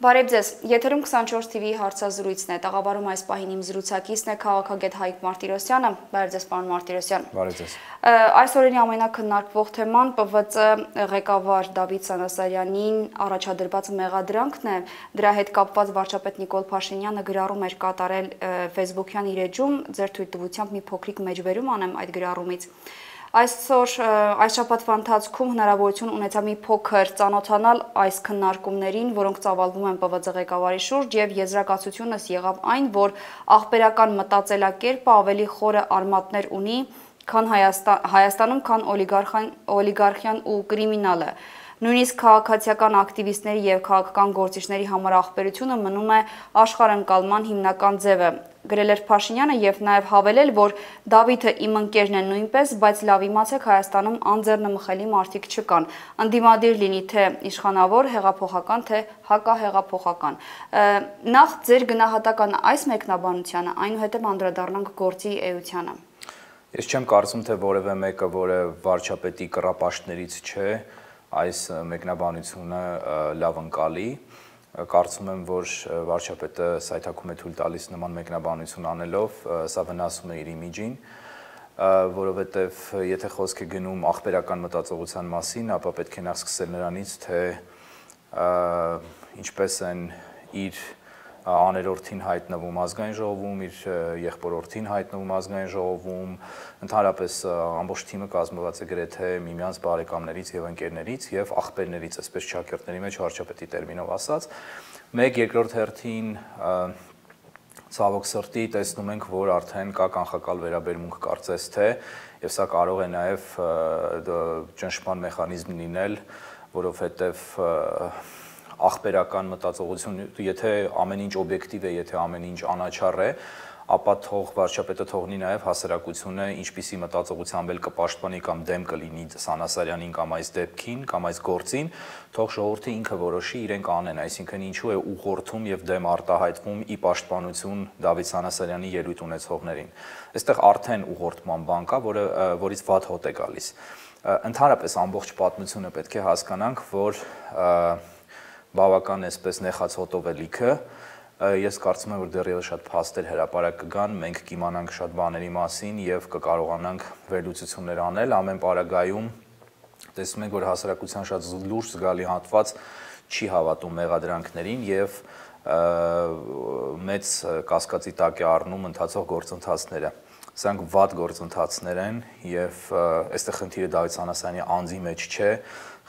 Բարև ձեզ, եթերում 24 TV հարցազրույցն է, տաղավարում այս պահին իմ զրուցակիցն է քաղաքագետ Հայկ Մարտիրոսյանը, բարև ձեզ պարոն Մարտիրոսյան։ Բարև ձեզ։ Այս օրերի ամենակննարկվող թեման ՊՎԾ ղեկավար Դավիթ Սանասարյանին առաջադրված մեղադրանքն է, դրա հետ կապված վարչապետ Նիկոլ Փաշինյանը գրառում էր կատարել Facebook-յան իր էջում, ձեր թույլտվությամբ մի փոքրիկ մեջբերում անեմ այդ գրառումից։ Այսօր այս շաբաթվա ընթացքում հնարավորություն ունեցա մի փոքր ծանոթանալ այս քննարկումներին, որոնք ծավալվում են ՊՎԾ ղեկավարի շուրջ, եւ եզրակացությունս եղավ այն, որ աղբերական մտածելակերպը ավելի խորը արմատներ ունի, քան Հայաստանում, քան օլիգարխիան ու կրիմինալը։ Նույնիսկ քաղաքացիական ակտիվիստների եւ քաղաքական գործիչների համար աղբերությունը մնում է աշխարհընկալման հիմնական ձևը։ Գրել էր Փաշինյանը եւ նաեւ հավելել, որ Դավիթը իմ ընկերն է նույնպես, բայց լավ իմացեք Հայաստանում անձեռնմխելի մարդիկ չկան։ Անդիմադիր լինի թե իշխանավոր, հեղափոխական, թե հակահեղափոխական։ Նախ ձեր գնահատականը այս մեկնաբանությանը, այնուհետև անդրադառնանք գործի էությանը։ Ես չեմ կարծում, թե որևէ մեկը, որը վարչապետի կռապաշտներից չէ, այս մեկնաբանությունը լավ ընկալի։ Կարծում եմ, որ վարչապետը սայթաքում է թույլ տալիս նման մեկնաբանություն անելով, սա վնասում է իր իմիջին, որովհետև եթե խոսք է գնում աղբերական մտածողության մասին, ապա պետք է նախ սկսել նրանից, թե ինչպես են իր աներորդին հայտնվում ազգային ժողովում, իր եղբորորդին հայտնվում ազգային ժողովում, ընդհանրապես ամբողջ թիմը կազմված է գրեթե միմյանց բարեկամներից եւ ընկերներից եւ աղբերներից, այսպես ճակերտների մեջ վարչապետի տերմինով ասած, մեկ երկրորդ հերթին ցավոք սրտի տեսնում ենք, որ արդեն կա կանխակալ վերաբերմունք կարծես թե եւ սա կարող է նաեւ ճնշման մեխանիզմ լինել, որովհետեւ աղբերական մտածողություն, եթե ամեն ինչ օբյեկտիվ է, եթե ամեն ինչ անաչառ է, ապա թող վարչապետը թողնի նաև հասարակությունը ինչպիսի մտածողությամբ էլ կպաշտպանի կամ դեմ կլինի Սանասարյանին կամ այս դեպքին կամ այս գործին, թող ժողովուրդը ինքը որոշի իրենք անեն, այսինքն ինչու է ուղղորդում եւ դեմ արտահայտվում ի պաշտպանություն Դավիթ Սանասարյանի ելույթ ունեցողներին։ Այստեղ արդեն ուղղորդման բան կա, որից վատ հոտ է գալիս։ Ընդհանրապես ամբողջ պատմությունը պետք է հասկանանք, որ բավական այսպես նեխած հոտով է լիքը, ես կարծում եմ, որ դեռևս շատ փաստեր հրապարակ կգան, մենք կիմանանք շատ բաների մասին եւ կկարողանանք վերլուծություններ անել, ամեն պարագայում տեսնում ենք, որ հասարակության շատ լուրջ զգալի հատված չի հավատում մեղադրանքներին եւ մեծ կասկածի տակ է առնում ընթացող գործընթացները։ Սրանք վատ գործընթացներ են եւ այստեղ խնդիրը Դավիթ Սանասարյանի անձի մեջ չէ,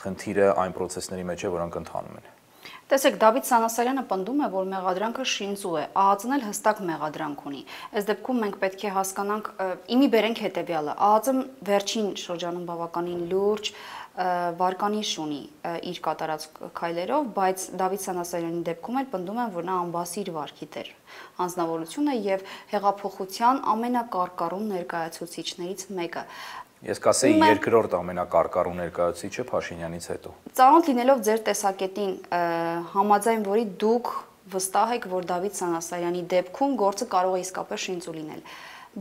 խնդիրը այն process-ների մեջ է, որոնք ընթանում են։ Տեսեք, Դավիթ Սանասարյանը պնդում է, որ մեղադրանքը շինծու է, ԱԱԾ-ն էլ հստակ մեղադրանք ունի։ Այս դեպքում մենք պետք է հասկանանք, իմի բերենք հետևյալը, ԱԱԾ-ն վերջին շրջանում բավականին լուրջ վարկանիշ ունի իր կատարած քայլերով, բայց Դավիթ Սանասարյանի դեպքում էլ պնդում են, որ նա անբասիր վարքի դեր անձնավորություն է եւ հեղափոխության ամենակարկառուն ներկայացուցիչներից մեկը։ Ես կասեի երկրորդ ամենակարկառու ներկայացուցիչը Փաշինյանից հետո։ Ծանոթ լինելով ձեր տեսակետին, համաձայն որի դուք վստահ եք, որ Դավիթ Սանասարյանի դեպքում գործը կարող է իսկապես շինծու լինել։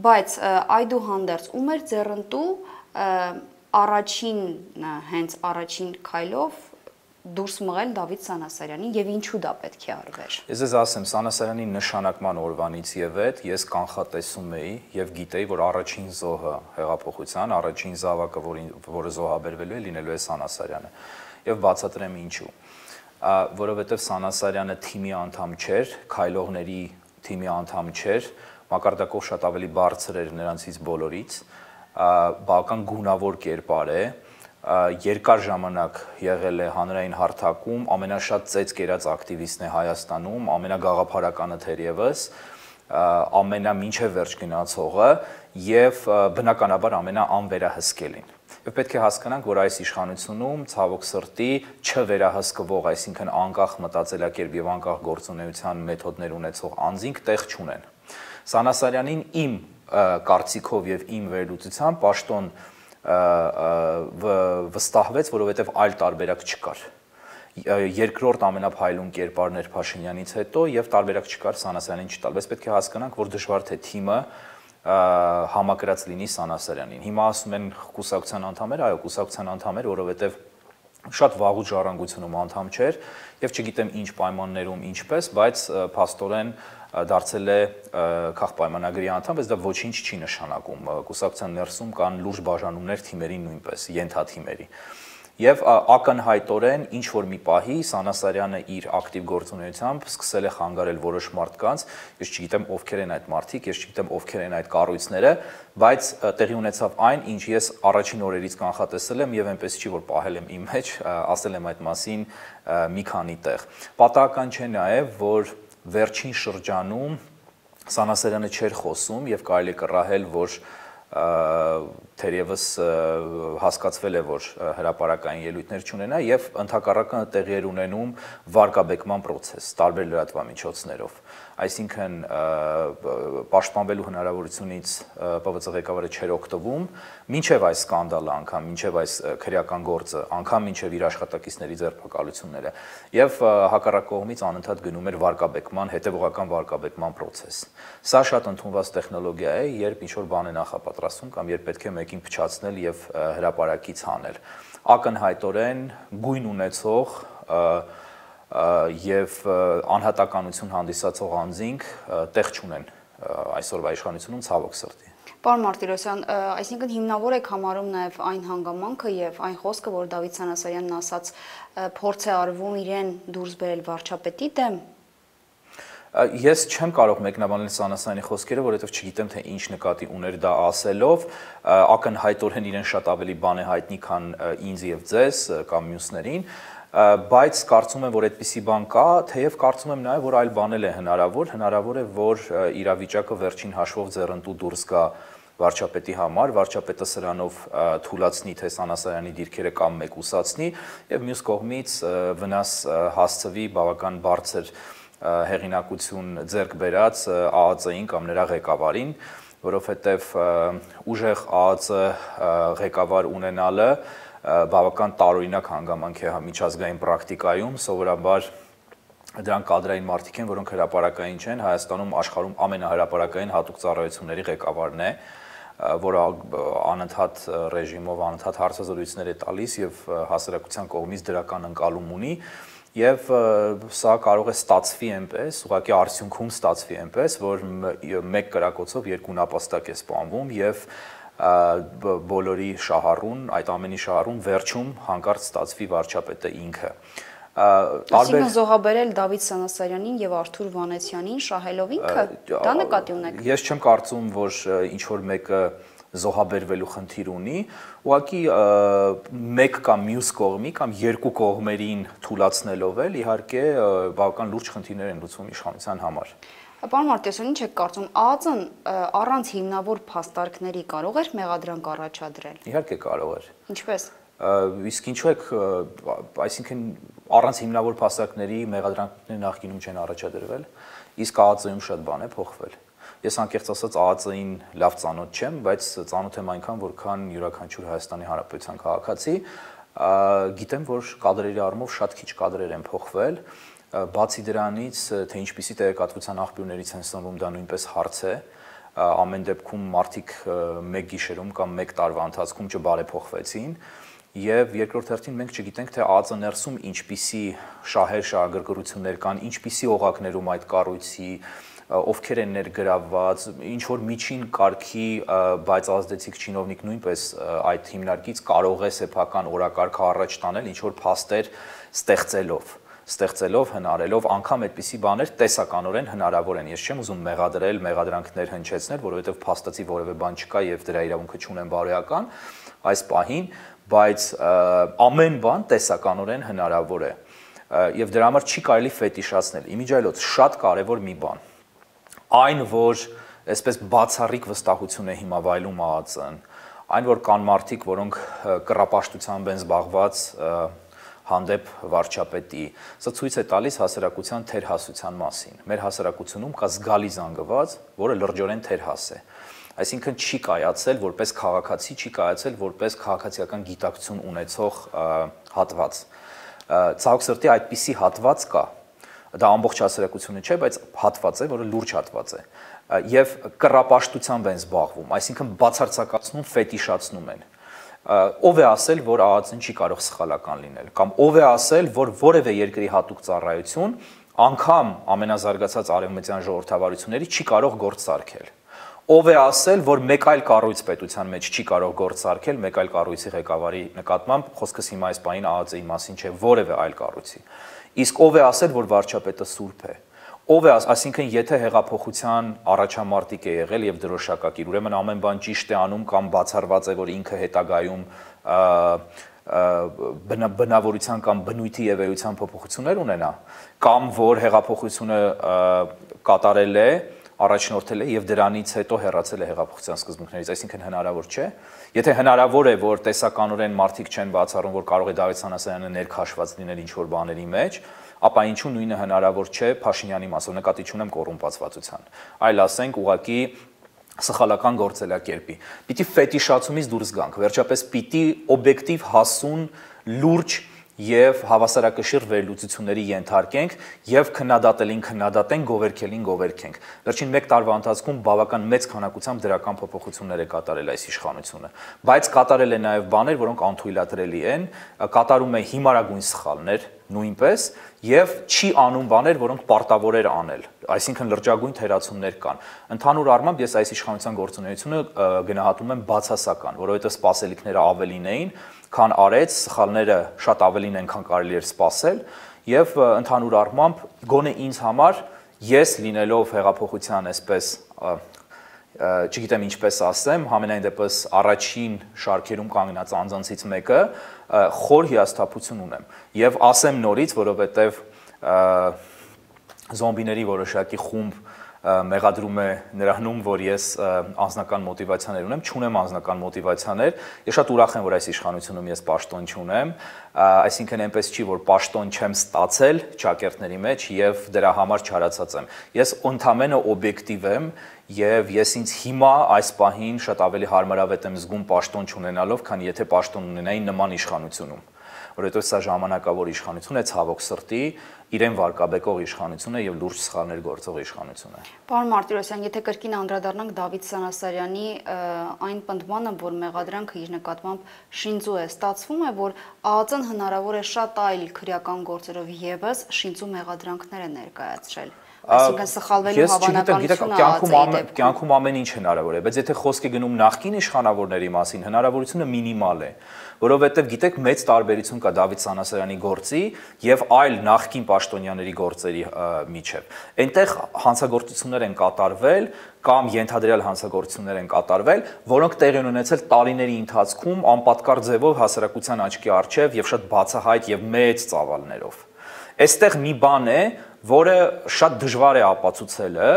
Բայց այդուհանդերձ ում էր ձեռնտու հենց առաջին քայլով դուրս մղել Դավիթ Սանասարյանին եւ ինչու դա պետք է արվեր։ Ես ձեզ ասեմ, Սանասարյանի նշանակման օրվանից եւ այդ ես կանխատեսում էի եւ գիտեի, որ առաջին զոհը հեղափոխության, առաջին զավակը, որը զոհաբերվելու է, լինելու է Սանասարյանը։ Եվ բացատրեմ ինչու։ Որովհետեւ Սանասարյանը թիմի անդամ չէր, քայլողների թիմի անդամ չէր, մակարդակով շատ ավելի բարձր էր նրանցից բոլորից, բավական գունավոր կերպար է, երկար ժամանակ եղել է հանրային հարթակում, ամենաշատ ծեծ կերած ակտիվիստն է Հայաստանում, ամենագաղափարականը թերևս, ամենամինչև վերջ գնացողը եւ բնականաբար ամենաանվերահսկելին։ Եվ պետք է հասկանանք, որ այս իշխանությունում ցավոք սրտի չվերահսկվող, այսինքն անկախ մտածելակերպ եւ անկախ գործունեության մեթոդներ ունեցող անձինք տեղ չունեն։ Սանասարյանին իմ կարծիքով եւ իմ վերլուծությամբ պաշտոն վստահվեց, որովհետև այլ տարբերակ չկար։ Երկրորդ ամենափայլուն կերպարն էր Փաշինյանից հետո եւ տարբերակ չկար Սանասարյանին չտալ, բայց պետք է հասկանանք, որ դժվար թե թիմը համակրած լինի Սանասարյանին։ Հիմա ասում են կուսակցության անդամներ, այո, կուսակցության անդամներ, որովհետև շատ վաղուց ժառանգությունում անդամ չէր եւ չգիտեմ ինչ պայմաններում ինչպես, բայց փաստորեն դարձել է քաղաքապայմանագրի անդամ, բայց դա ոչինչ չի նշանակում։ Կուսակցության ներսում կան լուրջ բաժանումներ թիմերի նույնպես, ենթաթիմերի։ Եվ ակնհայտորեն ինչ որ մի պահի Սանասարյանը իր ակտիվ գործունեությամբ սկսել է խանգարել որոշ մարդկանց, ես չգիտեմ ովքեր են այդ մարդիկ, ես չգիտեմ ովքեր են այդ կառույցները, բայց տեղի ունեցավ այն, ինչ ես առաջին օրերից կանխատեսել եմ եւ այնպես չի որ պահել եմ իմ մեջ, ասել եմ այդ մասին մի քանի տեղ։ Պատահական չէ նաեւ, որ վերջին շրջանում Սանասարյանը չէր խոսում եւ կարելի է կռահել, որ թերևս հասկացվել է, որ հրապարակային ելույթներ չունենա եւ ընդհակառակը տեղի էր ունենում վարկաբեկման process տարբեր լրատվամիջոցներով, այսինքն պաշտպանվելու հնարավորությունից ՊՎԾ ղեկավարը չէր օգտվում, մինչեւ այս սկանդալը անգամ, մինչեւ այս քրեական գործը, անգամ մինչեւ իր աշխատակիցների ձերբակալությունները եւ հակառակ կողմից անընդհատ գնում էր վարկաբեկման, հետեւողական վարկաբեկման process։ Սա շատ ընդունված տեխնոլոգիա է, երբ ինչ-որ բան է նախապատրաստում կամ երբ պետք է մեկին փչացնել եւ հրապարակից հանել։ Ակնհայտորեն գույն ունեցող եւ անհատականություն հանդիսացող անձինք տեղ չունեն այսօրվա իշխանությունում, ցավոք սրտի։ Պարոն Մարտիրոսյան, այսինքն հիմնավոր եք համարում նաեւ այն հանգամանքը եւ այն խոսքը, որ Դավիթ Սանասարյանն ասաց, փորձ է արվում իրեն դուրս բերել վարչապետի դեմ։ Ես չեմ կարող մեկնաբանել Սանասարյանի խոսքերը, որովհետև չգիտեմ թե ինչ նկատի ուներ դա ասելով, ակնհայտորեն իրեն շատ ավելի բան է հայտնի, քան ինձ եւ ձեզ կամ մյուսներին, բայց կարծում եմ, որ այդպիսի բան կա, թեև կարծում եմ նաեւ, որ այլ բանել է հնարավոր է, որ իրավիճակը վերջին հաշվով ձեռնտու դուրս գա վարչապետի համար, վարչապետը սրանով թույլատնի թե Սանասարյանի դիրքերը կամ մեկուսացնի եւ մյուս կողմից վնաս հասցվի բավական բարձր հեղինակություն ձեռք բերած ԱԱԾ-ին կամ նրա ղեկավարին, որովհետև ուժեղ ԱԱԾ ղեկավար ունենալը բավական տարօրինակ հանգամանք է միջազգային պրակտիկայում, սովորաբար դրանք կադրային մարդիկ են, որոնք հրապարակային չեն, Հայաստանում աշխարհում ամենահրապարակային հատուկ ծառայությունների ղեկավարն է, որը անընդհատ ռեժիմով անընդհատ հարցազրույցներ է տալիս եւ հասարակության կողմից դրական ընկալում ունի Եվ սա կարող է ստացվի այնպես, ուղղակի արդյունքում ստացվի այնպես, որ մեկ կրակոցով երկու նապաստակ է սպանվում եւ բոլորի շահառուն, այդ ամենի շահառուն վերջում հանկարծ ստացվի վարչապետը ինքը։ Այսինքն զոհաբերել Դավիթ Սանասարյանին եւ Արթուր Վանեցյանին շահելով ինքը, դա նկատի ունեք։ Ես չեմ կարծում, որ ինչ որ մեկը զոհաբերվելու խնդիր ունի, ուղղակի մեկ կամ մյուս կողմի կամ երկու կողմերին թույլատնելով էլ իհարկե բավական լուրջ խնդիրներ են լուծվում իշխանության համար։ Պարոն Մարտիրոսյան, ինչ եք կարծում, ԱԱԾ-ն առանց հիմնավոր փաստարկների կարող էր մեղադրանք առաջադրել։ Իհարկե կարող էր։ Ինչպես։ Իսկ ինչու եք, այսինքն առանց հիմնավոր փաստարկների մեղադրանքներ նախկինում չեն առաջադրվել, իսկ ԱԱԾ-ում շատ բան է փոխվել։ Ես անկեղծ ասած ԱԱԾ-ին լավ ծանոթ չեմ, բայց ծանոթ եմ այնքան, որքան յուրաքանչյուր Հայաստանի Հանրապետության քաղաքացի, գիտեմ, որ կադրերի առումով շատ քիչ կադրեր են փոխվել, բացի դրանից, թե ինչպիսի տեղեկատվության աղբյուրներից են սնվում, դա նույնպես հարց է, ամեն դեպքում մարդիկ մեկ գիշերում կամ մեկ տարվա ընթացքում չբարեփոխվեցին, եւ երկրորդ հերթին մենք չգիտենք, թե ԱԱԾ ներսում ինչպիսի շահեր, շահագրգռություններ կան, ինչպիսի օղակներում այդ կառույցի ովքեր են ներգրավված, ինչ որ միջին կարգի, բայց ազդեցիկ չինովնիկ նույնպես այդ հիմնարկից կարող է սեփական օրակարգը առաջ տանել, ինչ որ փաստեր ստեղծելով, հնարելով, անգամ այդպիսի բաներ տեսականորեն հնարավոր են։ Ես չեմ ուզում մեղադրել, մեղադրանքներ հնչեցնել, որովհետև փաստացի որևէ բան չկա եւ դրա իրավունքը չունեն բարոյական այս պահին, բայց ամեն բան տեսականորեն հնարավոր է։ Եվ դրա համար չի կարելի ֆետիշացնել։ Իմիջիայլոց շատ կարևոր մի բան։ Այն, որ այսպես բացառիկ վստահություն է հիմա վայելում ԱԱԾ-ն, այն, որ կան մարդիկ, որոնք կռապաշտությամբ են զբաղված հանդեպ վարչապետի, սա ցույց է տալիս հասարակության թերհասության մասին։ Մեր հասարակությունում կա զգալի զանգված, որը լրջորեն թերհաս է։ Այսինքն չի կայացել որպես քաղաքացի, չի կայացել որպես քաղաքացիական գիտակցություն ունեցող հատված։ Ցավոք սրտի այդպիսի հատված կա։ Դա ամբողջ հասարակությունը չէ, բայց հատված է, որը լուրջ հատված է։ Եվ կռապաշտությամբ են զբաղվում, այսինքն բացարձակացնում, ֆետիշացնում են։ ով է ասել, որ ԱԱԾ-ն չի կարող սխալական լինել, կամ ով է ասել, որ որևէ երկրի հատուկ ծառայություն անգամ ամենազարգացած արևմտյան ժողովրդավարությունների չի կարող գործ սարքել։ Ով է ասել, որ մեկ այլ կառույց պետության մեջ չի կարող գործ սարքել, մեկ այլ կառույցի ղեկավարի նկատմամբ, խոսքս հիմա այս պահին ԱԱԾ-ի մասին չէ, որևէ այլ կառույցի։ Իսկ ով է ասել, որ վարչապետը սուրբ է։ Ով է, այսինքն, եթե հեղափոխության առաջամարտիկ է եղել եւ դրոշակակիր, ուրեմն ամեն բան ճիշտ է անում կամ բացառված է, որ ինքը հետագայում բնավորության կամ բնույթի եւ էության փոփոխություններ ունենա, կամ որ հեղափոխությունը կատարել է, առաջնորդել է եւ դրանից հետո հեռացել է հեղափոխության սկզբունքներից, այսինքն հնարավոր չէ։ Եթե հնարավոր է, որ տեսականորեն մարդիկ չեն բացառում, որ կարող է Դավիթ Սանասարյանը ներքաշված լինել ինչ-որ բաների մեջ, ապա ինչու նույնը հնարավոր չէ Փաշինյանի մասով, նկատի չունեմ կոռումպացվածության, այլ ասենք ուղղակի սխալական գործելակերպի։ Պիտի ֆետիշացումից դուրս գանք, վերջապես պիտի օբյեկտիվ հասուն, լուրջ եւ հավասարակշիռ վերլուծությունների ենթարկենք եւ քննադատելին քննադատենք, գովերքելին գովերքենք։ Վերջին 1 տարվա ընթացքում բավական մեծ քանակությամբ դրական փոփոխություններ է կատարել այս իշխանությունը, բայց կատարել է նաեւ բաներ, որոնք անթույլատրելի են, կատարում է հիմարագույն սխալներ նույնպես եւ չի անում բաներ, որոնք պարտավոր էր անել, այսինքն լրջագույն թերացումներ կան։ Ընդհանուր առմամբ ես այս իշխանության գործունեությունը գնահատում եմ բացասական, որովհետեւ սպասելիքները ավելին էին, քան արեց, սխալները շատ ավելին են, քան կարելի էր սպասել, եւ ընդհանուր առմամբ գոնե ինձ համար ես լինելով հեղափոխության այսպես չգիտեմ ինչպես ասեմ, համենայն դեպս առաջին շարքերում կանգնած անձանցից մեկը խոր հիասթափություն ունեմ եւ ասեմ նորից, որովհետեւ զոմբիների որոշակի խումբ մեղադրում է նրանում, որ ես անձնական մոտիվացիաներ ունեմ, չունեմ անձնական մոտիվացիաներ, ես շատ ուրախ եմ, որ այս իշխանությունում ես պաշտոն չունեմ, այսինքն այնպես չի, որ պաշտոն չեմ ստացել ճակերտների մեջ եւ դրա համար չարացած եմ։ Ես ընդամենը օբյեկտիվ եմ եւ ես ինձ հիմա այս պահին շատ ավելի հարմարավետ եմ զգում պաշտոն չունենալով, քան եթե պաշտոն ունենայի նման իշխանությունում, որովհետեւ սա ժամանակավոր իշխանություն է, ցավոք սրտի, իրեն վարկաբեկող իշխանություն է եւ լուրջ սխալներ գործող իշխանություն է։ Պարոն Մարտիրոսյան, եթե կրկին անդրադառնանք Դավիթ Սանասարյանի այն պնդմանը, որ մեղադրանքը իր նկատմամբ շինծու է, ստացվում է, որ ԱԱԾ-ն հնարավոր է շատ այլ քրեական գործերով եւս շինծու մեղադրանքներ է ներկայացրել։ Այսինքն սխալվելու հավանականությունը կյանքում ամեն ինչ հնարավոր է, բայց եթե խոսք է գնում նախկին իշխանավորների մասին, հնարավորությունը մինիմալ է, որովհետև գիտեք մեծ տարբերություն կա Դավիթ Սանասարյանի գործի եւ այլ նախկին պաշտոնյաների գործերի միջեւ։ Այնտեղ հանցագործություններ են կատարվել կամ ենթադրյալ հանցագործություններ են կատարվել, որոնք տեղի են ունեցել տարիների ընթացքում անպատկառ ձևով հասարակության աչքի առջև եւ շատ բացահայտ եւ մեծ ծավալներով։ Այստեղ մի բան է, որը շատ դժվար է ապացուցելը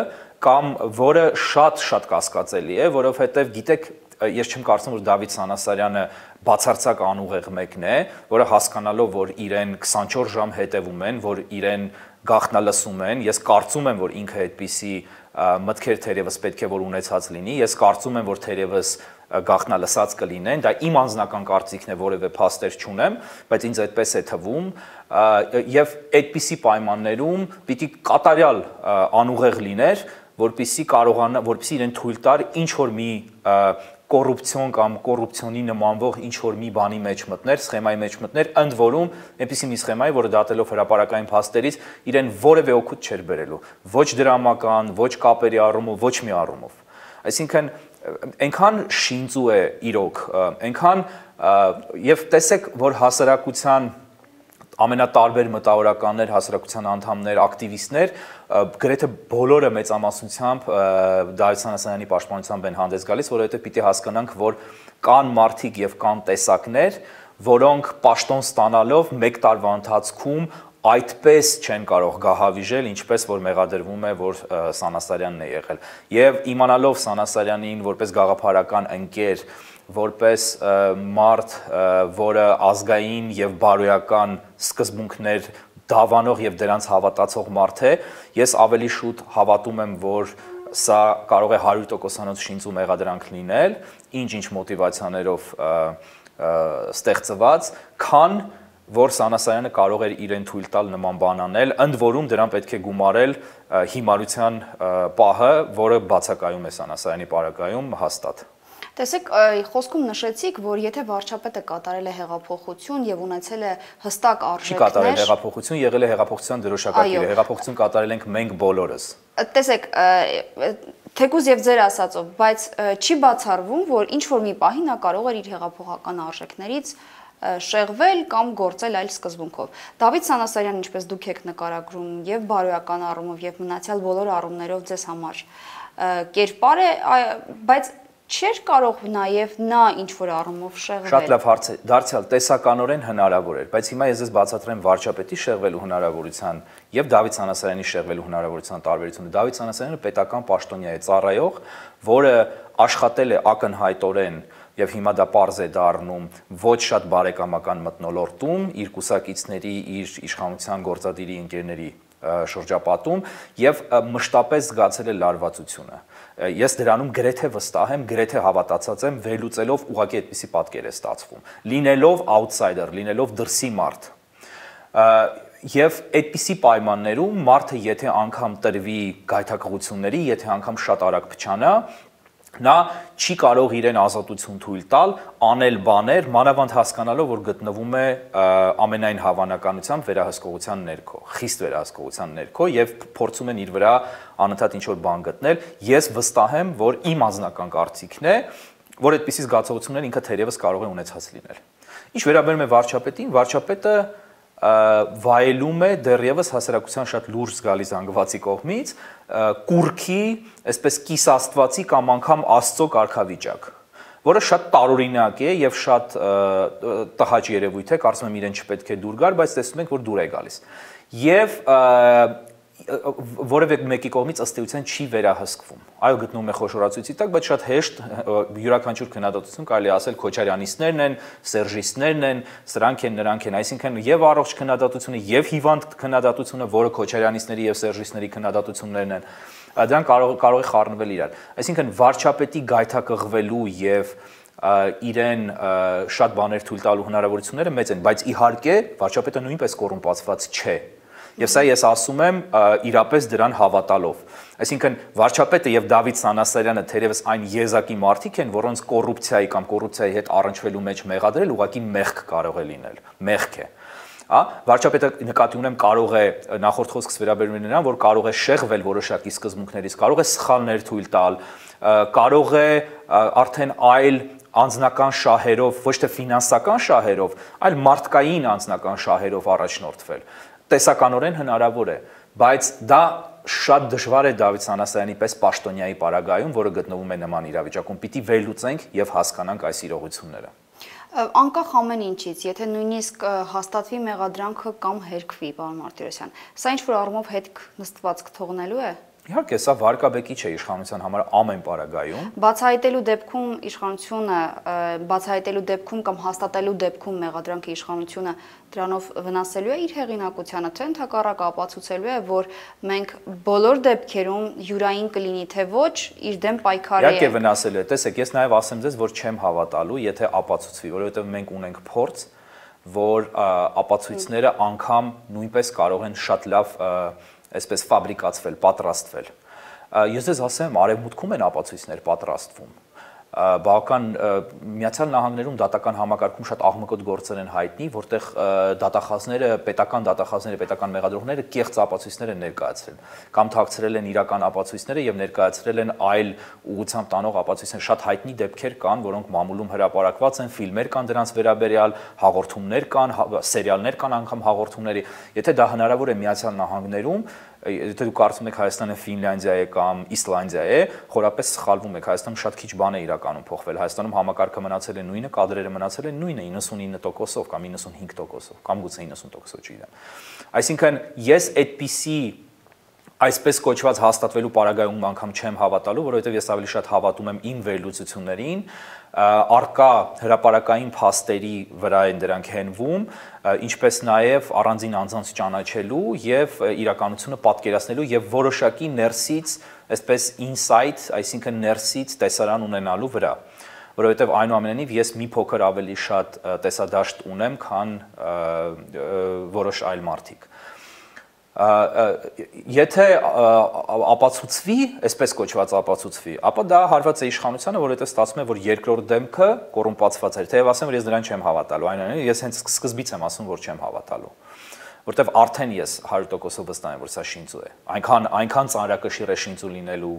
կամ որը շատ կասկածելի է, որովհետև գիտեք, ես չեմ կարծում, որ Դավիթ Սանասարյանը բացարձակ անուղեղ մեկն է, որը հասկանալով, որ իրեն 24 ժամ հետևում են, որ իրեն գաղտնալսում են, ես կարծում եմ, որ ինքը այդպիսի մտքեր թերևս պետք է որ ունեցած լինի, ես կարծում եմ, որ թերևս գաղտնալսած կլինեն, դա իմ անձնական կարծիքն է, որևէ փաստեր չունեմ, բայց ինձ այդպես է թվում, եւ այդպիսի պայմաններում պիտի կատարյալ անուղեղ լիներ, որպեսզի կարողանա, որպեսզի իրեն թույլ տար ինչ որ մի կոռուպցիոն կամ կոռուպցիոնի նմանվող ինչ որ մի բանի մեջ մտներ, սխեմայի մեջ մտներ, ընդ որում այնպիսի մի սխեմայի, որը դատելով հրապարակային փաստերից իրեն որևէ օգուտ չէր բերելու, ոչ դրամական, ոչ կապերի առումով, ոչ մի առումով։ Այսինքն այնքան շինծու է իրոք, այնքան եւ տեսեք, որ հասարակության ամենատարբեր մտավորականներ, հասարակության անդամներ, ակտիվիստներ, գրեթե բոլորը մեծամասնությամբ Դավիթ Սանասարյանի պաշտպանությամբ են հանդես գալիս, որովհետև պիտի հասկանանք, որ կան մարդիկ եւ կան տեսակներ, որոնք պաշտոն ստանալով 1 տարվա ընթացքում այդպես չեն կարող գահավիժել, ինչպես որ մեղադրվում է, որ Սանասարյանն է եղել։ Եվ իմանալով Սանասարյանին որպես գաղափարական ընկեր, որպես մարդ, որը ազգային եւ բարոյական սկզբունքներ դավանող եւ դրանց հավատացող մարդ է, ես ավելի շուտ հավատում եմ, որ սա կարող է 100%-անոց շինծու մեղադրանք լինել, ինչ մոտիվացիաներով ստեղծված, քան որ Սանասարյանը կարող էր իրեն թույլ տալ նման բան անել, ընդ որում դրան պետք է գումարել հիմարության պահը, որը բացակայում է Սանասարյանի պարագայում հաստատ։ Տեսեք, խոսքում նշեցիք, որ եթե վարչապետը կատարել է հեղափոխություն եւ ունեցել է հստակ արժեքներ, չի կատարել հեղափոխություն, եղել է հեղափոխության դրոշակակիրը, հեղափոխություն կատարել ենք մենք բոլորս։ Տեսեք, թեկուզ եւ ձեր ասածով, բայց չի բացառվում, որ ինչ որ մի պահի նա կարող էր իր հեղափոխական արժեքներից շեղվել կամ գործել այլ սկզբունքով։ Դավիթ Սանասարյան, ինչպես դուք եք նկարագրում եւ բարոյական առումով եւ մնացյալ բոլոր առումներով ձեզ համար կերպար է, բայց չէր կարող նաև նա ինչ որ առումով շեղվել։ Շատ լավ հարց է, դարձյալ տեսականորեն հնարավոր էր, բայց հիմա ես ձեզ բացատրեմ վարչապետի շեղվելու հնարավորության եւ Դավիթ Սանասարյանի շեղվելու հնարավորության տարբերությունը։ Դավիթ Սանասարյանը պետական պաշտոնյա է, ծառայող, որը աշխատել է ակնհայտորեն եւ հիմա դա պարզ է դառնում ոչ շատ բարեկամական մթնոլորտում, իր կուսակիցների, իր իշխանության գործադիրի ընկերների շրջապատում եւ մշտապես զգացել է լարվածությունը։ Ես դրանում գրեթե վստահ եմ, գրեթե հավատացած եմ, վերլուծելով ուղղակի այդպիսի պատկեր է ստացվում։ Լինելով outsider, լինելով դրսի մարդ։ Եվ այդպիսի պայմաններում մարդը եթե անգամ տրվի գայթակղությունների, եթե անգամ շատ արագ փչանա, նա չի կարող իրեն ազատություն թույլ տալ, անել բաներ, մանավանդ հասկանալով, որ գտնվում է ամենայն հավանականությամբ վերահսկողության ներքո, խիստ վերահսկողության ներքո եւ փորձում են իր վրա անընդհատ ինչ-որ բան գտնել։ Ես վստահ եմ, որ իմ անձնական կարծիքն է, որ այդպիսի զգացողություններ ինքը թերևս կարող է ունեցած լինել։ Ինչ վերաբերում է վարչապետին, վարչապետը վայելում է դեռևս հասարակության շատ լուրջ զգալի զանգվածի կողմից կուրքի, այսպես կիսաստվածի կամ անգամ աստծո կարգավիճակ, որը շատ տարօրինակ է եւ շատ տհաճ երևույթ է, կարծում եմ իրեն չպետք է դուր գար, բայց տեսնում ենք, որ դուր է գալիս։ Եվ որևէ մեկի կողմից ըստ էության չի վերահսկվում։ Այո, գտնվում է խոշորացույցի տակ, բայց շատ հեշտ յուրաքանչյուր քննադատություն կարելի ասել քոչարյանիստներն են, սերժիստներն են, սրանք են, նրանք են, այսինքն եւ առողջ քննադատությունը եւ հիվանդ քննադատությունը, որը քոչարյանիստների եւ սերժիստների քննադատություններն են, դրանք կարող է խառնվել իրար։ Այսինքն վարչապետի գայթակղվելու եւ իրեն շատ բաներ թույլ տալու հնարավորությունները մեծ են, բայց իհարկե վարչապետը նույնպես կոռումպացված չէ։ Եվ սա ես ասում եմ իրապես դրան հավատալով։ Այսինքն վարչապետը եւ Դավիթ Սանասարյանը թերևս այն եզակի մարդիկ են, որոնց կոռուպցիայի կամ կոռուպցիայի հետ առնչվելու մեջ մեղադրել ուղղակի մեղք կարող է լինել, մեղք է։ Վարչապետը նկատի ունեմ կարող է նախորդ խոսքս վերաբերում է նրան, որ կարող է շեղվել որոշակի սկզբունքներից, կարող է սխալներ թույլ տալ, կարող է արդեն այլ անձնական շահերով, ոչ թե ֆինանսական շահերով, այլ մարդկային անձնական շահերով առաջնորդվել։ Տեսականորեն հնարավոր է, բայց դա շատ դժվար է Դավիթ Սանասարյանի պես պաշտոնյայի պարագայում, որը գտնվում է նման իրավիճակում, պիտի վերլուծենք եւ հասկանանք այս իրողությունները։ Անկախ ամեն ինչից, եթե նույնիսկ հաստատվի մեղադրանքը կամ հերքվի, պարոն Մարտիրոսյան, սա ինչ որ առումով հետք նստվածք թողնելու է։ Իհարկե, սա վարկաբեկի չէ իշխանության համար ամեն պարագայում։ Բացահայտելու դեպքում իշխանությունը, բացահայտելու դեպքում կամ հաստատելու դեպքում մեղադրանքի իշխանությունը դրանով վնասելու է իր հեղինակությանը, թե ընդհակառակը ապացուցելու է, որ մենք բոլոր դեպքերում յուրային կլինի թե ոչ, իր դեմ պայքարի Իհարկե վնասելու է։ Տեսեք, ես նաև ասեմ ձեզ, որ չեմ հավատալու, եթե ապացուցվի, որովհետև մենք ունենք փորձ, որ ապացույցները անգամ նույնպես կարող են շատ լավ այսպես ֆաբրիկացվել, պատրաստվել։ Ես ձեզ ասեմ, արևմուտքում են ապացույցներ պատրաստվում։ Բավական Միացյալ Նահանգներում դատական համակարգում շատ աղմկոտ գործեր են հայտնի, որտեղ դատախազները, պետական մեղադրողները կեղծ ապացույցներ են ներկայացրել, կամ թաքցրել են իրական ապացույցները եւ ներկայացրել են այլ ուղղությամբ տանող ապացույցներ։ Շատ հայտնի դեպքեր կան, որոնք մամուլում հրապարակված են, ֆիլմեր կան դրանց վերաբերյալ, հաղորդումներ կան, սերիալներ կան անգամ հաղորդումների։ Եթե դա հնարավոր է Միացյալ Նահանգներում, եթե դուք կարծում եք Հայաստանը Ֆինլանդիա է կամ Իսլանդիա է, խորապես սխալվում եք։ Հայաստանում շատ քիչ բան է իրականում փոխվել։ Հայաստանում համակարգը մնացել է նույնը, կադրերը մնացել են նույնը 99%-ով կամ 95%-ով կամ գուցե 90%-ով չգիտեմ։ Այսինքն ես այդպիսի այսպես կոչված հաստատվելու պարագայում անգամ չեմ հավատալու, որովհետև ես ավելի շատ հավատում եմ իմ վերլուծություններին, արկա հրապարակային փաստերի վրա են դրանք հենվում, ինչպես նաև առանձին անձանց ճանաչելու եւ իրականությունը պատկերացնելու եւ որոշակի ներսից, այսպես insight, այսինքն ներսից տեսարան ունենալու վրա, որովհետև այնուամենայնիվ ես մի փոքր ավելի շատ տեսադաշտ ունեմ, քան որոշ այլ մարդիկ։ Եթե ապացուցվի, այսպես կոչված ապացուցվի, ապա դա հարված է իշխանությանը, որ այդպես ստացվում է, որ երկրորդ դեմքը կոռումպացված էր, թեև ասեմ, որ ես դրան չեմ հավատալու, այնուամենայնիվ ես հենց սկզբից եմ ասում, որ չեմ հավատալու, որտեվ արդեն ես 100% վստահ եմ, որ սա շինծու է, այնքան ծանրակշիռ է շինծու լինելու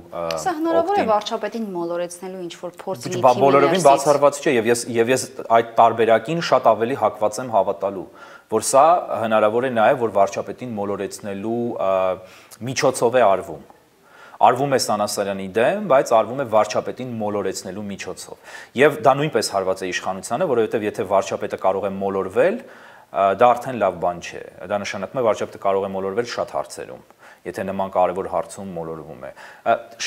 Սա հնարավոր է վարչապետին մոլորեցնելու ինչ-որ փորձի մի բոլորովին բացառված չէ, եւ ես այդ տարբերակին շատ ավելի հակված եմ հավատալու, որ սա հնարավոր է նաև որ վարչապետին մոլորեցնելու միջոցով է արվում։ Արվում է Սանասարյանի դեմ, բայց արվում է վարչապետին մոլորեցնելու միջոցով։ Եվ դա նույնպես հարված է իշխանությանը, որովհետև եթե վարչապետը կարող է մոլորվել, դա արդեն լավ բան չէ։ Դա նշանակում է վարչապետը կարող է մոլորվել շատ հարցերում, եթե նման կարևոր հարցում մոլորվում է։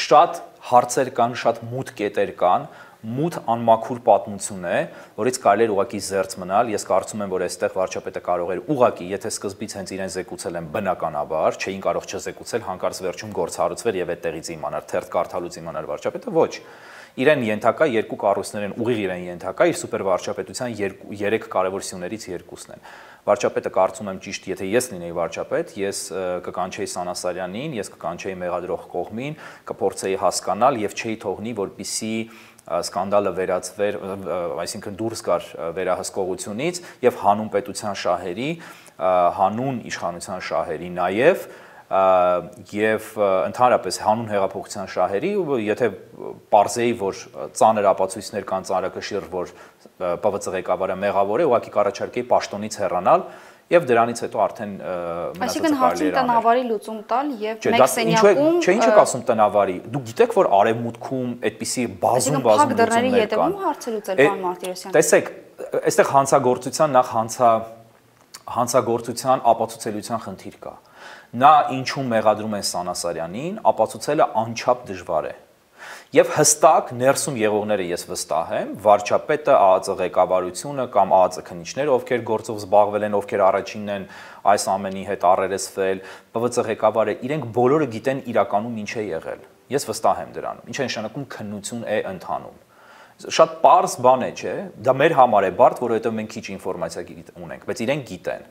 Շատ հարցեր կան, շատ մութ կետեր կան, մութ անմաքուր պատմություն է, որից կարելի է ուղղակի զերծ մնալ։ Ես կարծում եմ, որ այստեղ վարչապետը կարող էր ուղղակի, եթե սկզբից հենց իրեն զեկուցել են բնականաբար, չէին կարող չզեկուցել, հանկարծ վերջում գործ հարուցվեր եւ այդտեղից իմանար, թերթ կարդալուց իմանար վարչապետը, ոչ։ Իրեն ենթակա երկու կառույցներ են, ուղիղ իրեն ենթակա իր սուպեր վարչապետության 3 կարևոր սյուներից երկուսն են։ Վարչապետը կարծում եմ ճիշտ, եթե ես լինեի վարչապետ, ես կկանչեի Սանասարյանին, ես կկանչեի մեղադրող կողմին, կփորձեի հասկանալ եւ չէի թողնի, որպիսի սկանդալը վերածվեր, այսինքն դուրս գար վերահսկողությունից եւ հանուն պետության շահերի, հանուն իշխանության շահերի նաեւ եւ ընդհանրապես հանուն հեղափոխության շահերի, եթե պարզեի, որ ծանր ապացույցներ կան ծանրակշիռ, որ ՊՎԾ ղեկավարը մեղավոր է, ուղղակի կառաջարկեի պաշտոնից հեռանալ եւ դրանից հետո արդեն այսինքն հարցին տնավարի լուծում տալ եւ մեկ սենյակում Չէ, ինչ եք ասում տնավարի։ Դուք գիտեք, որ արևմուտքում այդպիսի բազում լուծումներ կան։ Հարցը լուծել պարոն Մարտիրոսյան։ Տեսեք, այստեղ հանցագործության նախ հանցագործության ապացուցելիության խնդիր կա։ Նա ինչու մեղադրում են Սանասարյանին, ապացուցելը անչափ դժվար է։ Եվ հստակ ներսում եղողները ես վստահ եմ, վարչապետը, ԱԱԾ ղեկավարությունը կամ ԱԱԾ քննիչները, ովքեր գործով զբաղվել են, ովքեր առաջինն են այս ամենի հետ առերեսվել, ՊՎԾ ղեկավարը, իրենք բոլորը գիտեն իրականում ինչ է եղել։ Ես վստահ եմ դրանում։ Ինչ է նշանակում քննություն է ընթանում։ Շատ պարզ բան է, չէ՞։ Դա մեր համար է բարդ, որովհետև մենք քիչ ինֆորմացիա ունենք, բայց իրենք գիտեն։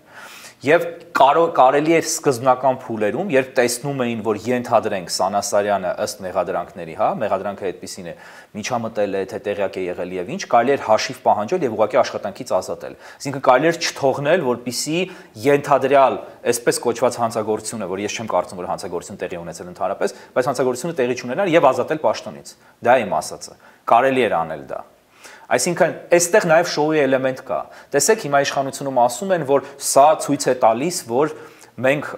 Եվ կարելի էր սկզբնական փուլերում, երբ տեսնում էին, որ ենթադրենք Սանասարյանը ըստ մեղադրանքների, հա, մեղադրանքը այդպեսին է, միջամտել է, թե տեղյակ է եղել եւ ինչ, կարելի էր հաշիվ պահանջել եւ ուղղակի աշխատանքից ազատել։ Այսինքն կարելի էր չթողնել, որպիսի ենթադրյալ այսպես կոչված հանցագործությունը, որ ես չեմ կարծում, որ հանցագործություն տեղի ունեցել ընդհանրապես, բայց հանցագործությունը տեղի չունենար եւ ազատել պաշտոնից։ Դա իմ ասածը։ Կարելի էր անել դա։ Այսինքն, այստեղ նաև շոուի էլեմենտ կա։ Տեսեք, հիմա իշխանությունում ասում են, որ սա ցույց է տալիս, որ մենք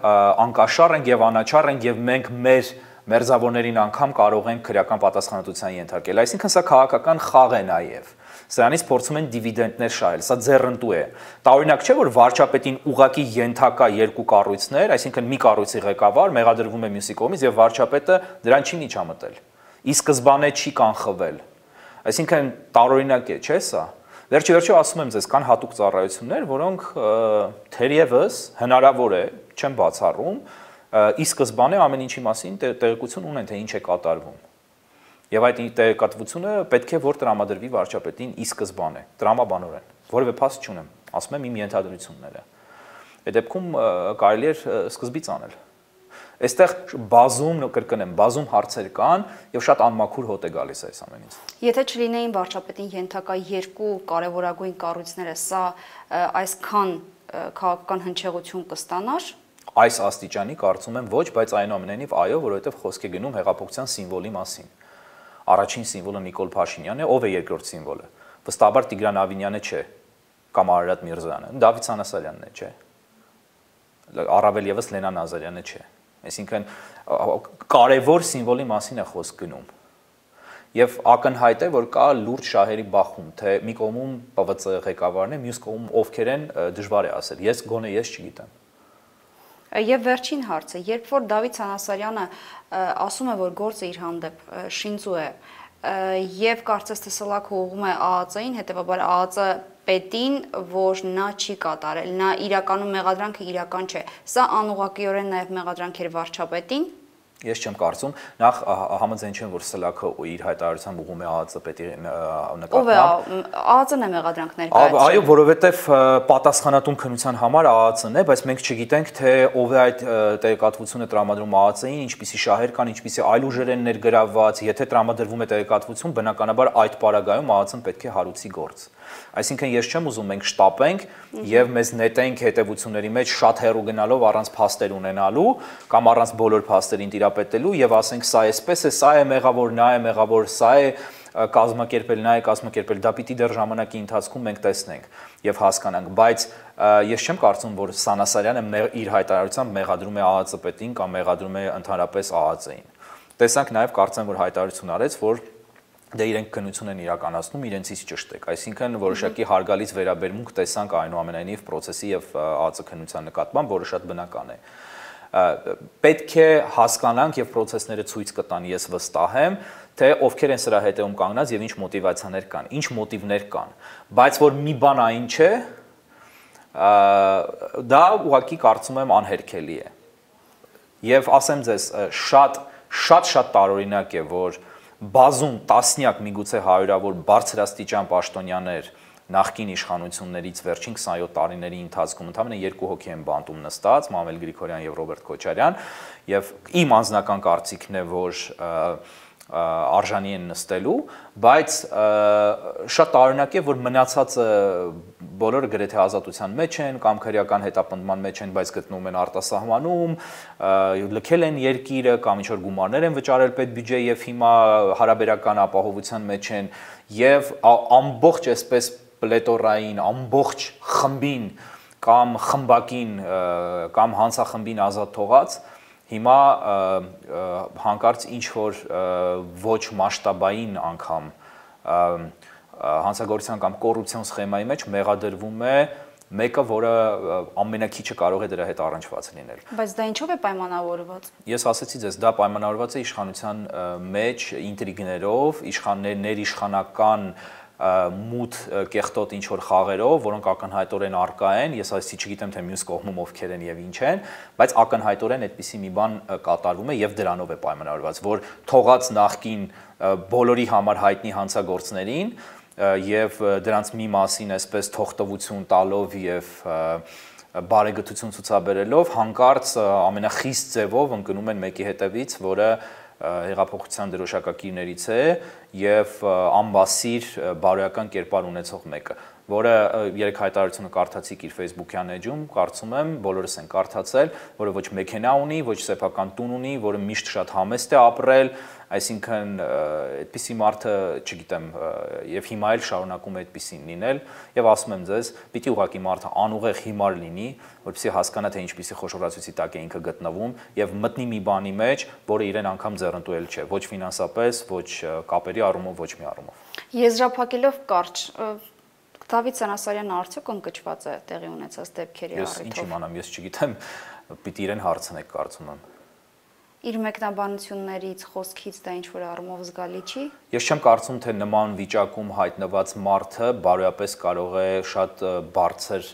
անկաշառ ենք եւ անաչառ ենք եւ մենք մեր մերձավորներին անգամ կարող ենք քրեական պատասխանատվության ենթարկել։ Այսինքն, սա քաղաքական խաղ է նաև։ Սրանից փորձում են դիվիդենդներ շահել, սա ձեռնտու է։ Տարօրինակ չէ, որ վարչապետին ուղակի ենթակա երկու կառույցներ, այսինքն մի կառույցի ղեկավար մեղադրվում է մյուսի կողմից եւ վարչապետը դրան չի միջամտել։ Ի սկզբանե չի կանխվել։ Այսինքն տարօրինակ է, չէ՞ սա։ Վերջիվերջո ասում եմ ձեզ, կան հատուկ ծառայություններ, որոնք թերևս հնարավոր է, չեմ բացառում, ի սկզբանե ամեն ինչի մասին տեղեկություն ունեն, թե ինչ է կատարվում։ Եվ այդ տեղեկատվությունը պետք է որ տրամադրվի վարչապետին ի սկզբանե, տրամաբանորեն։ Որևէ փաստ չունեմ, ասում եմ իմ ենթադրությունները։ Այդ դեպքում կարելի է սկզբից անել։ Այստեղ բազում, կրկնեմ, բազում հարցեր կան եւ շատ անմաքուր հոտ է գալիս այս ամենից։ Եթե չլինեին վարչապետին ենթակա երկու կարևորագույն կառույցները, սա այսքան քաղաքական հնչեղություն կստանար։ Այս աստիճանի կարծում եմ ոչ, բայց այնուամենայնիվ այո, որովհետեւ խոսք է գնում հեղափոխության սիմվոլի մասին։ Առաջին սիմվոլը Նիկոլ Փաշինյանն է, ով է երկրորդ սիմվոլը։ Վստահաբար Տիգրան Ավինյանը չէ, կամ Արարատ Միրզոյանը, Դավիթ Սանասարյանն է, չէ։ Առավել եւս Լենա Նազարյանը չէ։ Այսինքն կարևոր սիմվոլի մասին է խոսք գնում։ Եվ ակնհայտ է, որ կա լուրջ շահերի բախում, թե մի կողմում ՊՎԾ ղեկավարն է, մյուս կողմում ովքեր են, դժվար է ասել։ Ես գոնե ես չգիտեմ։ Եվ վերջին հարցը, երբ որ Դավիթ Սանասարյանը ասում է, որ գործը իր հանդեպ շինծու է, եւ կարծես թե սլաք ուղղում է ԱԱԾ-ին, հետեւաբար ԱԱԾ պետին, որ նա չի կատարել, նա իրականում մեղադրանքը իրական չէ։ Սա անուղղակիորեն նաև մեղադրանք էր վարչապետին։ Ես չեմ կարծում, նախ համաձայն չեմ, որ Սլաքը իր հայտարարությամբ ուղղում է ԱԱԾ պետի նկատմամբ։ Ով է ԱԱԾ-ն է մեղադրանք ներկայացրել։ Այո, որովհետև պատասխանատուն քննության համար ԱԱԾ-ն է, բայց մենք չգիտենք, թե ով է այդ տեղեկատվությունը տրամադրում ԱԱԾ-ին, ինչպիսի շահեր կան, ինչպիսի այլ ուժեր են ներգրավված, եթե տրամադրվում է տեղեկատվություն, բնականաբար այդ պարագայում ԱԱԾ-ն պետք է հարուցի գործ։ Այսինքն ես չեմ ուզում մենք շտապենք եւ մեզ նետենք հետեւությունների մեջ շատ հեռու գնալով առանց փաստեր ունենալու կամ առանց բոլոր փաստերին տիրապետելու եւ ասենք սա էսպես է, սա է մեղավոր, նա է մեղավոր, սա է կազմակերպել, նա է կազմակերպել, դա պիտի դեռ ժամանակի ընթացքում մենք տեսնենք եւ հասկանանք, բայց ես չեմ կարծում, որ Սանասարյանը իր հայտարարությամբ մեղադրում է ԱԱԾ պետին կամ մեղադրում է ընդհանրապես ԱԱԾ-ին։ Տեսանք նաեւ կարծեմ, որ հայտարարություն արեց, որ դե իրենք քննություն են իրականացնում իրենցից ճշտեք, այսինքն որոշակի հարգալից վերաբերմունք տեսանք այնուամենայնիվ process-ի եւ ԱԱԾ քննության նկատմամբ, որը շատ բնական է։ Պետք է հասկանանք եւ process-ները ցույց կտան, ես վստահ եմ, թե ովքեր են սրա հետևում կանգնած եւ ինչ մոտիվացիաներ կան, ինչ մոտիվներ կան, բայց որ մի բան այն չէ, դա ուղղակի կարծում եմ անհերքելի է։ Եվ ասեմ ձեզ, շատ տարօրինակ է, որ բազում տասնյակ միգուցե հարյուրավոր բարձրաստիճան պաշտոնյաներ նախկին իշխանություններից վերջին 27 տարիների ընթացքում ընդամենը 2 հոգի են բանտում նստած, Մամել Գրիգորյան եւ Ռոբերտ Քոչարյան, եւ իմ անձնական կարծիքն է, որ արժանի են նստելու, բայց շատ տարօրինակ է, որ մնացածը բոլորը գրեթե ազատության մեջ են կամ քրեական հետապնդման մեջ են, բայց գտնվում են արտասահմանում, լքել են երկիրը կամ ինչ-որ գումարներ են վճարել պետբյուջե եւ հիմա հարաբերական ապահովության մեջ են եւ ամբողջ այսպես պլետորային, ամբողջ խմբին կամ խմբակին կամ հանցախմբին ազատ թողած հիմա հանկարծ ինչ որ ոչ մասշտաբային անգամ հանցագործության կամ կոռուպցիոն սխեմայի մեջ մեղադրվում է մեկը, որը ամենակիչը կարող է դրա հետ առնչված լինել։ Բայց դա ինչով է պայմանավորված։ Ես ասացի ձեզ, դա պայմանավորված է իշխանության մեջ ինտրիգներով, ներիշխանական մութ կեղտոտ ինչ որ խաղերով, որոնք ակնհայտորեն արկա են, ես այսի չգիտեմ թե մյուս կողմում ովքեր են եւ ինչ են, բայց ակնհայտորեն այդպիսի մի բան կատարվում է եւ դրանով է պայմանավորված, որ թողած նախքին բոլորի համար հայտնի հանցագործներին եւ դրանց մի մասին այսպես թողտվություն տալով եւ բարեգտություն ցուցաբերելով հանկարծ ամենախիստ ձևով ընկնում են մեկի հետևից, որը հեղափոխության դրոշակակիրներից է եւ անբասիր բարոյական կերպար ունեցող մեկը, որը երեք հայտարարությունը կարդացիք իր Facebook-յան էջում, կարծում եմ բոլորս են կարդացել, որը ոչ մեքենա ունի, ոչ սեփական տուն ունի, որը միշտ շատ համեստ է ապրել, այսինքն այդպիսի մարդը, չգիտեմ, եւ հիմա էլ շարունակում է այդպիսին լինել եւ ասում եմ ձեզ, պիտի ուղղակի մարդը անուղեղ հիմար լինի, որպեսզի հասկանա թե ինչպիսի խոշորացույցի տակ է ինքը գտնվում եւ մտնի մի բանի մեջ, որը իրեն անգամ ձեռնտուել չէ, ոչ ֆինանսապես, ոչ կապերի առումով, ոչ մի առումով։ Եզրափակելով կարճ Դավիթ Սանասարյանը արդյոք ընկճված է տեղի ունեցած դեպքերի առիթով։ Ես ինչ իմանամ, ես չգիտեմ, պիտի իրեն հարցնեք, կարծում եմ։ Իր մեկնաբանություններից, խոսքից դա ինչ որ առումով զգալի չի։ Ես չեմ կարծում, թե նման վիճակում հայտնված մարդը բարոյապես կարող է շատ բարձր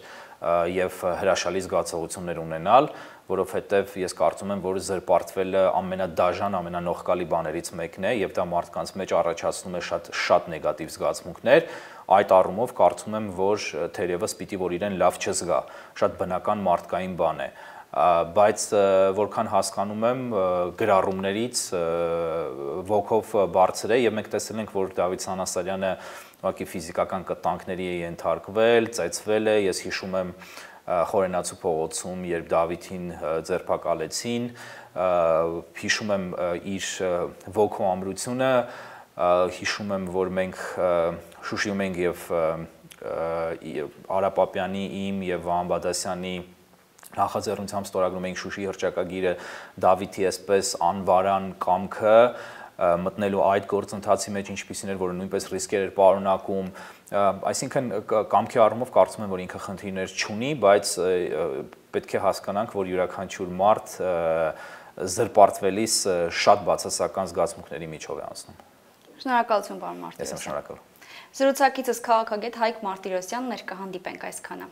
եւ հրաշալի զգացողություններ ունենալ, որովհետեւ ես կարծում եմ, որ զրպարտվելը ամենադաժան, ամենանողկալի բաներից մեկն է եւ դա մարդկանց մեջ առաջացնում է շատ նեգատիվ զգացմունքներ, այդ առումով կարծում եմ, որ թերևս պիտի որ իրեն լավ չզգա, շատ բնական մարդկային բան է, բայց որքան հասկանում եմ գրառումներից ոգով բարձր է եւ մենք տեսել ենք, որ Դավիթ Սանասարյանը ուղղակի ֆիզիկական կտանքների է ենթարկվել, ծեծվել է, ես հիշում եմ Խորենացու փողոցում, երբ Դավիթին ձերբակալեցին, հիշում եմ իր ոգու ամրությունը, հիշում եմ, որ մենք Շուշիում ենք եւ Արա Պապյանի իմ եւ Վահան Բադասյանի նախաձեռնությամբ ստորագրում ենք Շուշիի հռչակագիրը Դավիթի այսպես անվարան կամքը մտնելու այդ գործընթացի մեջ ինչպիսին էր, որը նույնպես ռիսկեր էր պարունակում, այսինքն կամքի առումով կարծում եմ, որ ինքը խնդիրներ չունի, բայց պետք է հասկանանք, որ յուրաքանչյուր մարդ զրպարտվելիս շատ բացասական զգացմունքների միջով է անցնում։ Շնորհակալություն, պարոն Մարտիրոսյան։ Ես եմ շնորհակալ։ Զրուցակիցս քաղաքագետ Հայկ Մարտիրոսյանն էր, կհանդիպենք այսքանը։